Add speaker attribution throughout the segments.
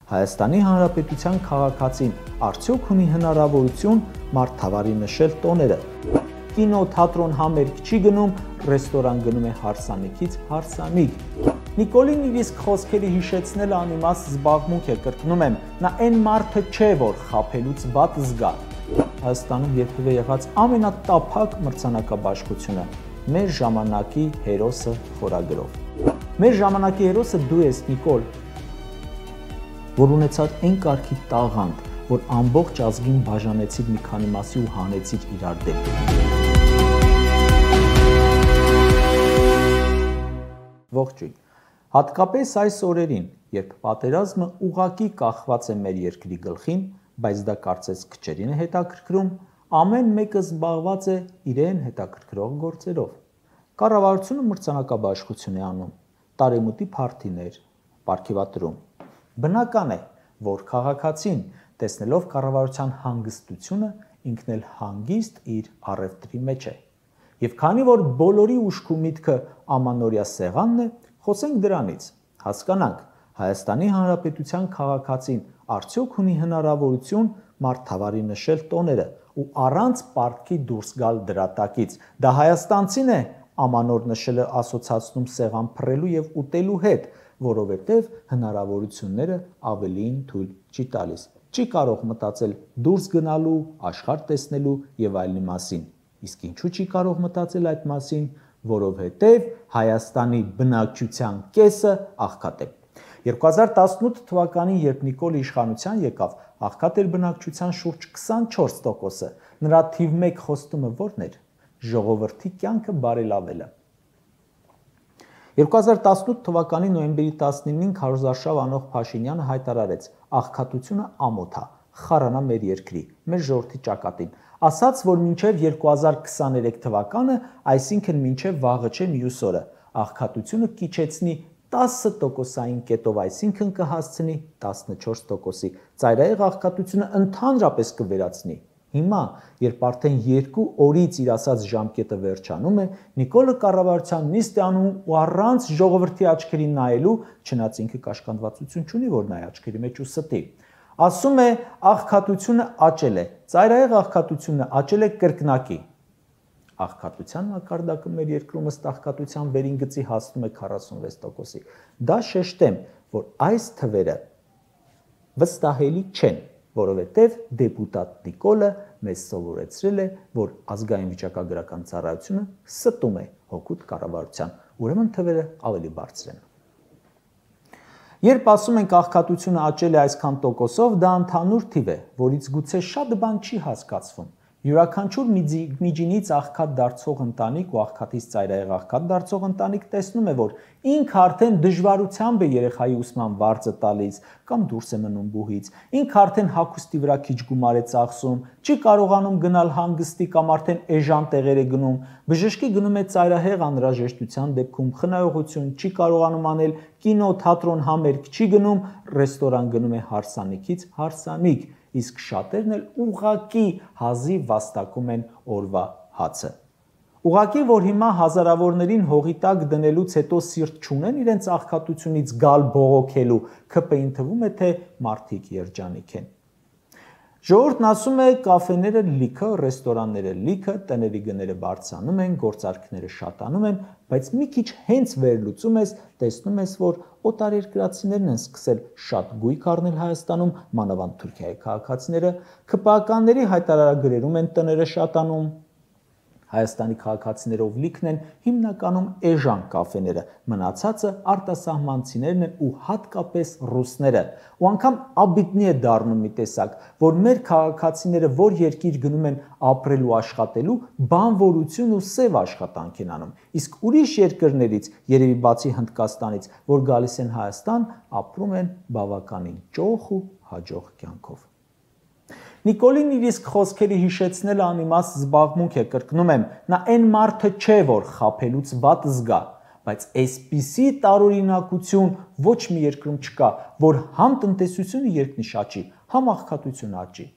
Speaker 1: Հայաստանի Հանրապետության քաղաքացին արդյոք ունի հնարավորություն մարդավարի նշել տոները։ Կինո, թատրոն, համերգ չի գնում, ռեստորան գնում է հարսանիքից հարսանիք։ Նիկոլին իր իսկ խոսքերի հիշեցնելը անիմաստ զբաղմունք է, կրկնում եմ, նա այն մարդը չէ, որ խաբելուց վատ զգա։ Հայաստանում երբևէ եղած ամենատափակ մրցանակաբաշխությունը մեր ժամանակի հերոսը խորագրով։ Մեր ժամանակի հերոսը դու ես, Նիկոլ, որ ունեցած այն կարգի տաղանդ, որ ամբողջ ազգին բաժանեցիր մի քանի մասի ու հանեցիր իրար դեմ։ Ողջույն։ Հատկապես այս օրերին, երբ պատերազմը ուղղակի կախված է մեր երկրի գլխին, բայց դա կարծես քչերին է հետաքրքրում, ամեն մեկը զբաղված է իրեն հետաքրքրող գործերով։ Կառավարությունը մրցանակաբաշխություն է անում, տարեմուտի փարթիներ, պարգևատրում։ Բնական է, որ քաղաքացին, տեսնելով կառավարության հանգստությունը, ինքն էլ հանգիստ իր առևտրի մեջ է։ Եվ քանի որ բոլորի ուշք ու միտքը ամանորյա սեղանն է, խոսենք դրանից, հասկանանք, Հայաստանի Հանրապետության քաղաքացին արդյոք ունի հնարավորություն մարդավարի նշել տոները ու առանց պարտքի դուրս գալ դրա տակից։ Դա հայաստանցին է ամանոր նշելը ասոցացնում սեղան փռելու եւ ուտելու հետ, որովհետև հնարավորությունները ավելին թույլ չի տալիս։ Չի կարող մտածել դուրս գնալու, աշխարհ տեսնելու եւ այլնի մասին։ Իսկ ինչու չի կարող մտածել այդ մասին, որովհետև Հայաստանի բնակչության կեսը աղքատ է։ 2018 թվականին, երբ Նիկոլը իշխանության եկավ, աղքատ էր բնակչության շուրջ 24%-ը։ Նրա թիվ 1 խոստումը ո՞րն էր։ Ժողովրդի կյանքը բարելավելը։ 2018 թվականի նոյեմբերի 19-ին քարոզարշավ անող Փաշինյանը հայտարարեց. աղքատությունը ամոթ է, խառանա մեր երկրի, մեր ժողովրդի ճակատին։ Ասաց, որ մինչև 2023 թվականը, այսինքն մինչև վաղը չէ մյուս օրը, աղքատությունը կիչեցնի 10%-ային կետով, այսինքն կհասցնի 14%-ի, ծայրահեղ աղքատությունը ընդհանրապես կվերացնի։ Հիմա, երբ արդեն 2 օրից իր ասած ժամկետը վերջանում է, Նիկոլը կառավարության նիստ է անում ու առանց ժողովրդի աչքերին նայելու, չնայած ինքը կաշկանդվածություն չունի, որ նայ աչքերի մեջ ու ստի, ասում է աղքատությունը աճել է, ծայրահեղ աղքատությունը աճել է կրկնակի։ Աղքատության մակարդակը մեր երկրում ըստ աղքատության վերին գծի հասնում է 46%-ի։ Դա շեշտեմ, որ այս թվերը վստահելի չեն, որովհետև դեպուտատ Նիկոլը մեզ սովորեցրել է, որ ազգային վիճակագրական ծառայությունը ստում է հօգուտ կառավարության, ուրեմն թվերը ավելի բարձր են։ Երբ ասում ենք աղքատությունը աճել է այսքան տոկոսով, դա ընդհանուր թիվ է, որից գուցե շատ բան չի հասկացվում։ Յուրաքանչյուր միջինից աղքատ դարձող ընտանիք ու աղքատից ծայրահեղ աղքատ դարձող ընտանիք տեսնում է, որ ինքը արդեն դժվարությամբ է երեխայի ուսման վարձը տալիս կամ դուրս է մնում բուհից, ինքը արդեն հագուստի վրա քիչ գումար է ծախսում, չի կարողանում գնալ հանգստի կամ արդեն էժան տեղեր է գնում, բժշկի գնում է ծայրահեղ անհրաժեշտության դեպքում, խնայողություն չի կարողանում անել, կինո, թատրոն, համերգ չի գնում, ռեստորան գնում է հարսանիքից հարսանիք, իսկ շատերն էլ ուղղակի հազիվ վաստակում են օրվա հացը։ Ուղղակի, որ հիմա հազարավորներին հողի տակ դնելուց հետո սիրտ չունեն իրենց աղքատությունից գալ բողոքելու, ՔՊ-ին թվում է, թե մարդիկ երջանիկ են։ Ժողովուրդն ասում է կաֆեները լիքը, ռեստորանները լիքը, տների գները բարձրանում են, գործարքները շատանում են, բայց մի քիչ հենց վերլուծում ես, տեսնում ես, որ օտարերկրացիներն են սկսել շատ գույք առնել Հայաստանում, մանավանդ Թուրքիայի քաղաքացիները, ՔՊԱ-կանների հայտարարագրերում են տները շատանում, Հայաստանի քաղաքացիներով լիքն են հիմնականում էժան կաֆեները, մնացածը արտասահմանցիներն են ու հատկապես ռուսները։ Ու անգամ աբիտնի է դառնում մի տեսակ, որ մեր քաղաքացիները որ երկիր գնում են ապրելու աշխատելու, բանվորություն ու սև աշխատանք են անում։ Իսկ ուրիշ երկրներից, երևի բացի Հնդկաստանից, որ գալիս են Հայաստան, ապրում են բավականին ճոխ ու հաջող կյանքով։ Նիկոլին իր իսկ խոսքերի հիշեցնելը անիմաստ զբաղմունք է, կրկնում եմ, նա այն մարդը չէ, որ խաբելուց վատ զգա, բայց այսպիսի տարօրինակություն ոչ մի երկրում չկա, որ համ տնտեսությունը երկնիշ աճի, համ աղքատությունը աճի։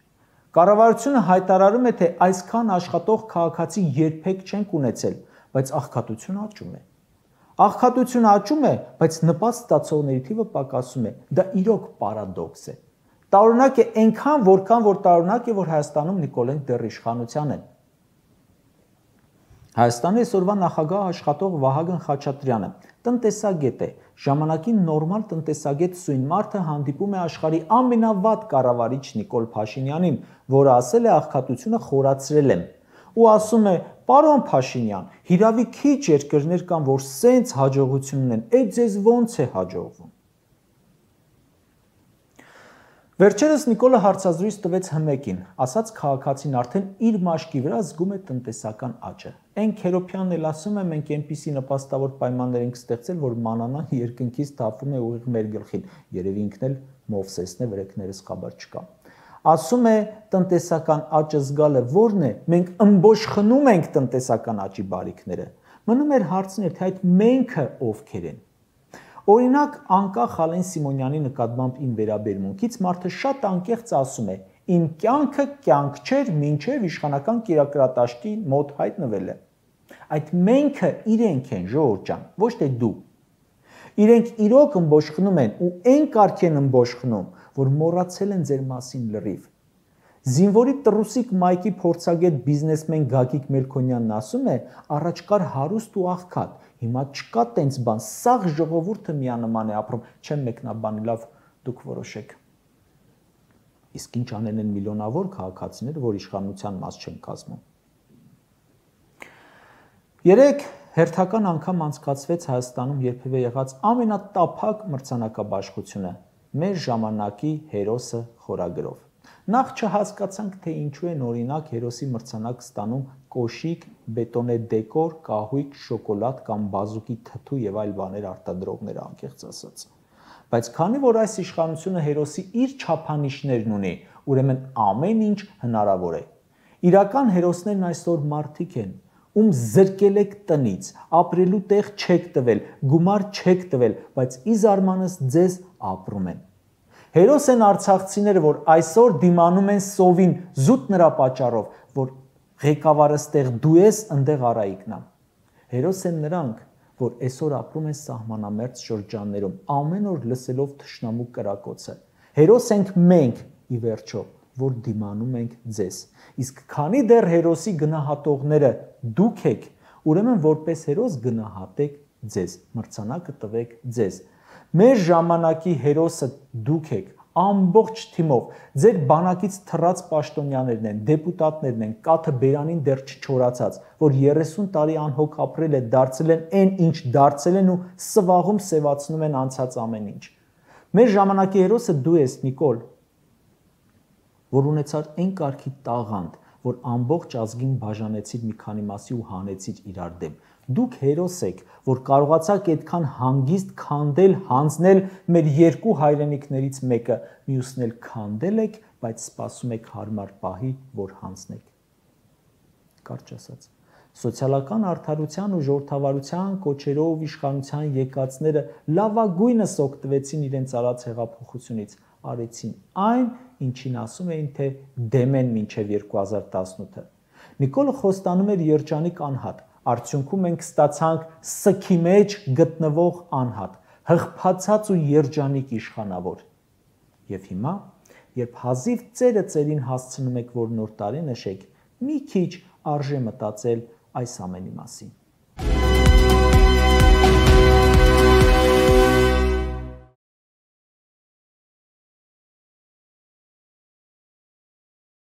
Speaker 1: Կառավարությունը հայտարարում է, թե այսքան աշխատող քաղաքացի երբեք չենք ունեցել, բայց աղքատությունը աճում է։ Աղքատությունը աճում է, բայց նպաստ ստացողների թիվը պակասում է։ Դա իրոք պարադոքս է։ Տարօրինակ է այնքան, որքան որ տարօրինակ է, որ Հայաստանում Նիկոլենք դեռ իշխանության են։ Հայաստանի այսօրվա նախագահ աշխատող Վահագն Խաչատրյանը տնտեսագետ է, ժամանակի նորմալ տնտեսագետ սույն մարդը հանդիպում է աշխարհի ամենավատ կառավարիչ Նիկոլ Փաշինյանին, որը ասել է աղքատությունը խորացրել եմ, ու ասում է. «Պարոն Փաշինյան, հիրավի քիչ երկրներ կան, որ սենց հաջողություն ունեն, այդ ձեզ ոնց է հաջողվում»։ Վերջերս Նիկոլը հարցազրույց տվեց Հմեկին, ասաց քաղաքացին արդեն իր մաշկի վրա զգում է տնտեսական աճը։ Այն Քերոփյանն էլ ասում է, մենք այնպիսի նպաստավոր պայմաններ ենք ստեղծել, որ մանանան երկնքից թափվում է ուղիղ մեր գլխին, երևի ինքն էլ Մովսեսն է, վրեքներս խաբար չկա։ Ասում է տնտեսական աճը զգալը որն է, մենք ըմբոշխնում ենք տնտեսական աճի բարիքները։ Մնում էր հարցնել, թե այդ մենքը ովքեր են։ Օրինակ, անկախ Ալեն Սիմոնյանի նկատմամբ իմ վերաբերմունքից մարդը շատ անկեղծ ասում է. «Իմ կյանքը կյանք չէր, մինչև իշխանական կերակրատաշտի մոտ հայտնվել է»։ Այդ մենքը իրենք են, ժողովուրդ ջան, ոչ թե դու։ Իրենք իրոք ըմբոշխնում են ու այն կարգ են ըմբոշխնում, որ մոռացել են ձեր մասին լրիվ։ Զինվորի Տրուսիկ Մայքի փորձագետ բիզնեսմեն Գագիկ Մելքոնյանն ասում է, առաջ կար հարուստ ու աղքատ, հիմա չկա տենց բան, սաղ ժողովուրդը միանման է ապրում, չեմ մեկնաբանի, լավ, դուք որոշեք։ Իսկ ինչ անեն են միլիոնավոր քաղաքացիները, որ իշխանության մաս չեն կազմում։ Երեք հերթական անգամ անցկացվեց Հայաստանում երբևէ եղած ամենատափակ մրցանակաբաշխությունը մեր ժամանակի հերոսը խորագրով։ Նախ չհասկացանք, թե ինչու են օրինակ հերոսի մրցանակ ստանում կոշիկ, բետոնե դեկոր, կահույք, շոկոլադ կամ բազուկի թթու եւ այլ բաներ արտադրողները, անկեղծ ասած։ Բայց քանի որ այս իշխանությունը հերոսի իր չափանիշներն ունի, ուրեմն ամեն ինչ հնարավոր է։ Իրական հերոսներն այսօր մարդիկ են, ում զրկել եք տնից, ապրելու տեղ չեք տվել, գումար չեք տվել, բայց ի զարմանս ձեզ ապրում են։ Հերոս են արցախցիները, որ այսօր դիմանում են սովին զուտ նրա պատճառով, որ ղեկավարը ստեղ դու ես, ընդեղ Արայիկն է։ Հերոս են նրանք, որ այսօր ապրում են սահմանամերձ շրջաններում, ամեն օր լսելով թշնամու կրակոցը։ Հերոս ենք մենք, ի վերջո, որ դիմանում ենք ձեզ։ Իսկ քանի դեռ հերոսի գնահատողները դուք եք, ուրեմն որպես հերոս գնահատեք ձեզ, մրցանակը տվեք ձեզ։ Մեր ժամանակի հերոսը դուք եք, ամբողջ թիմով, ձեր բանակից թռած պաշտոնյաներն են, դեպուտատներն են, կաթը բերանին դեռ չչորացած, որ 30 տարի անհոգ ապրել է, դարձել են այն, ինչ դարձել են ու սվաղում սևացնում են անցած ամեն ինչ։ Մեր ժամանակի հերոսը դու ես, Նիկոլ, որ ունեցար այն կարգի տաղանդ, որ ամբողջ ազգին բաժանեցիր մի քանի մասի ու հանեցիր իրար դեմ։ Դուք հերոս եք, որ կարողացաք այդքան հանգիստ քանդել, հանձնել մեր երկու հայրենիքներից մեկը, մյուսն էլ քանդել եք, բայց սպասում եք հարմար պահի, որ հանձնեք։ Կարճ ասած, սոցիալական արդարության ու ժողովրդավարության կոչերով իշխանության եկածները լավագույնս օգտվեցին իրենց արած հեղափոխությունից, արեցին այն, ինչին ասում էին, թե դեմ են մինչև 2018-ը։ Նիկոլը խոստանում էր երջանիկ անհատ, արդյունքում մենք ստացանք սքի մեջ գտնվող անհատ, հղբացած ու երջանիկ իշխանավոր։ Եվ հիմա, երբ հազիվ ծերը ծերին հասցնում եք, որ նոր տարի նշեք, մի քիչ արժե մտածել այս ամենի մասին։